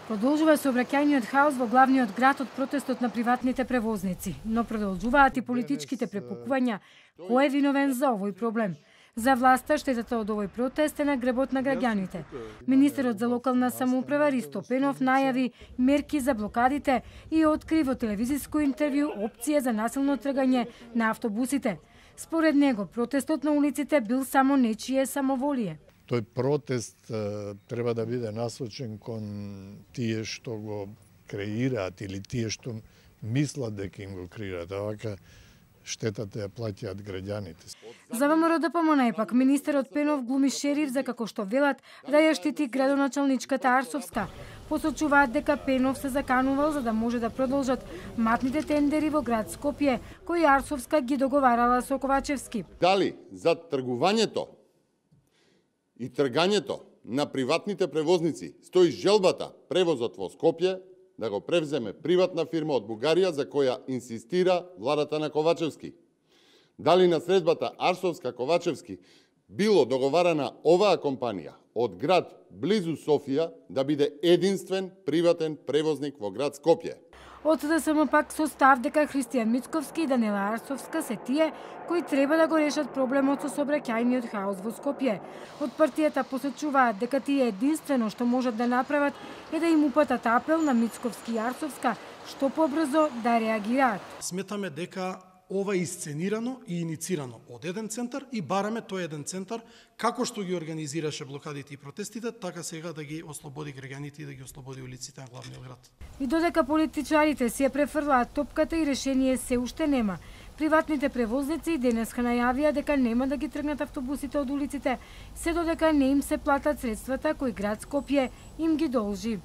Продолжува сообраќајниот хаос во главниот град од протестот на приватните превозници, но продолжуваат и политичките препукувања кој е виновен за овој проблем. За власта штетата од овој протест е на гребот на граѓаните. Министерот за локална самоуправа Ристо Пенов најави мерки за блокадите и откри во телевизиско интервју опција за насилно тргање на автобусите. Според него, протестот на улиците бил само нечие самоволие. Тој протест треба да биде насочен кон тие што го креираат или тие што мислат дека им го креираат, а вака штетата ја плаќаат граѓаните. За ВМРО ДПМН пак министерот Пенов глуми шериф за како што велат да ја штити градоначалничката Арсовска. Посочуваат дека Пенов се заканувал за да може да продолжат матните тендери во град Скопје, кои Арсовска ги договарала со Ковачевски. Дали за тргувањето и тргањето на приватните превозници стои желбата превозот во Скопје да го превземе приватна фирма од Бугарија за која инсистира владата на Ковачевски. Дали на средбата Арсовска-Ковачевски било договарана оваа компанија од град близу Софија да биде единствен приватен превозник во град Скопје. Од СДСМ пак со став дека Христијан Мицковски и Данила Арсовска се тие кои треба да го решат проблемот со сообраќајниот хаос во Скопје. Од партијата посочуваат дека тие единствено што можат да направат е да им упатат апел на Мицковски и Арсовска што побрзо да реагираат. Сметаме дека ова е исценирано и иницирано од еден центар и бараме тој еден центар како што ги организираше блокадите и протестите, така сега да ги ослободи граѓаните и да ги ослободи улиците на главниот град. И додека политичарите си ја префрлаат топката и решение се уште нема, приватните превозници денеска најавија дека нема да ги тргнат автобусите од улиците, се додека не им се платат средствата кои град Скопје им ги должи.